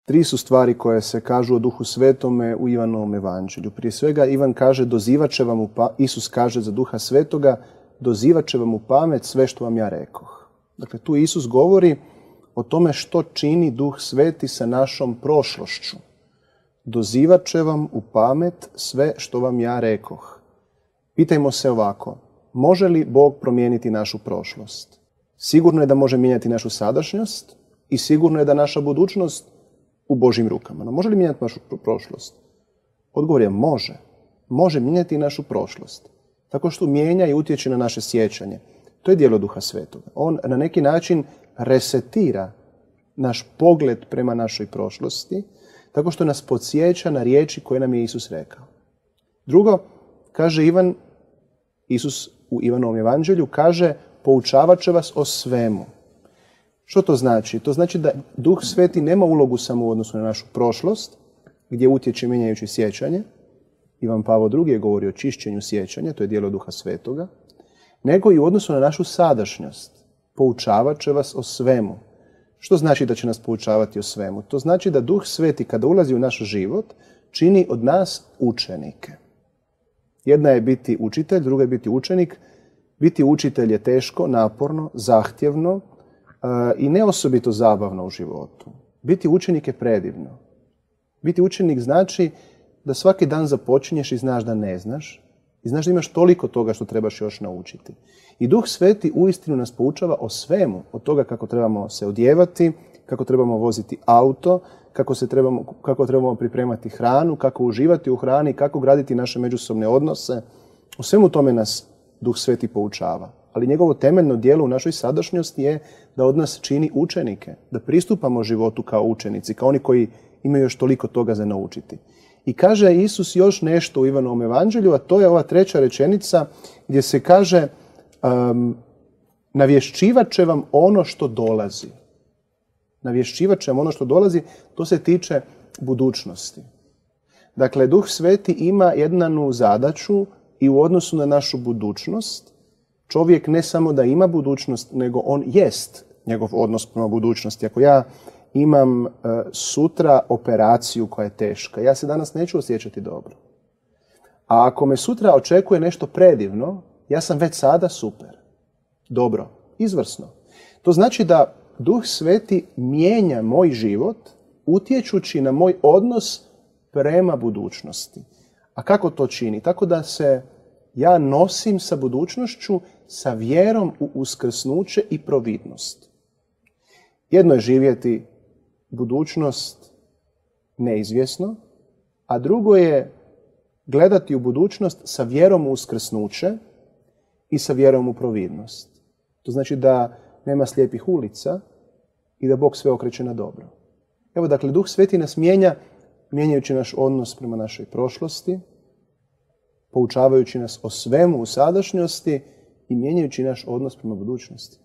Tri su stvari koje se kažu o Duhu Svetome u Ivanovom evanđelju. Prije svega Ivan kaže Isus kaže za Duha Svetoga, dozivat će vam u pamet sve što vam ja rekoh. Dakle, tu Isus govori o tome što čini Duh Sveti sa našom prošlošću. Dozivat će vam u pamet sve što vam ja rekoh. Pitajmo se ovako, može li Bog promijeniti našu prošlost? Sigurno je da može mijenjati našu sadašnjost i sigurno je da naša budućnost u Božjim rukama. No, može li mijenjati našu prošlost? Odgovor je može. Može mijenjati i našu prošlost. Tako što mijenja i utječe na naše sjećanje. To je djelo Duha Svetoga. On na neki način resetira naš pogled prema našoj prošlosti, tako što nas podsjeća na riječi koje nam je Isus rekao. Drugo, kaže Isus u Ivanovom evanđelju, kaže poučavat će vas o svemu. Što to znači? To znači da Duh Sveti nema ulogu samo u odnosu na našu prošlost, gdje utječe mijenjajući sjećanje. Ivan Pavao II je govori o čišćenju sjećanja, to je djelo Duha Svetoga, nego i u odnosu na našu sadašnjost. Poučavat će vas o svemu. Što znači da će nas poučavati o svemu? To znači da Duh Sveti kada ulazi u naš život čini od nas učenike. Jedna je biti učitelj, druga je biti učenik. Biti učitelj je teško, naporno, zahtjevno i ne osobito zabavno u životu. Biti učenik je predivno. Biti učenik znači da svaki dan započinješ i znaš da ne znaš i znaš da imaš toliko toga što trebaš još naučiti. I Duh Sveti uistinu nas poučava o svemu, od toga kako trebamo se odjevati, kako trebamo voziti auto, kako trebamo pripremati hranu, kako uživati u hrani, kako graditi naše međusobne odnose. O svemu tome nas Duh Sveti poučava. Ali njegovo temeljno djelo u našoj sadašnjosti je da od nas čini učenike, da pristupamo životu kao učenici, kao oni koji imaju još toliko toga za naučiti. I kaže Isus još nešto u Ivanovom evanđelju, a to je ova treća rečenica gdje se kaže navješćivat će vam ono što dolazi. Navješćivat će vam ono što dolazi, to se tiče budućnosti. Dakle, Duh Sveti ima jednu zadaću i u odnosu na našu budućnost. Čovjek ne samo da ima budućnost, nego on jest njegov odnos prema budućnosti. Ako ja imam sutra operaciju koja je teška, ja se danas neću osjećati dobro. A ako me sutra očekuje nešto predivno, ja sam već sada super. Dobro, izvrsno. To znači da Duh Sveti mijenja moj život utječući na moj odnos prema budućnosti. A kako to čini? Tako da se ja nosim sa budućnošću sa vjerom u uskrsnuće i providnost. Jedno je živjeti budućnost neizvjesno, a drugo je gledati u budućnost sa vjerom u uskrsnuće i sa vjerom u providnost. To znači da nema slijepih ulica i da Bog sve okreće na dobro. Evo, dakle, Duh Sveti nas mijenja, mijenjajući naš odnos prema našoj prošlosti, poučavajući nas o svemu u sadašnjosti i mijenjajući naš odnos prema budućnosti.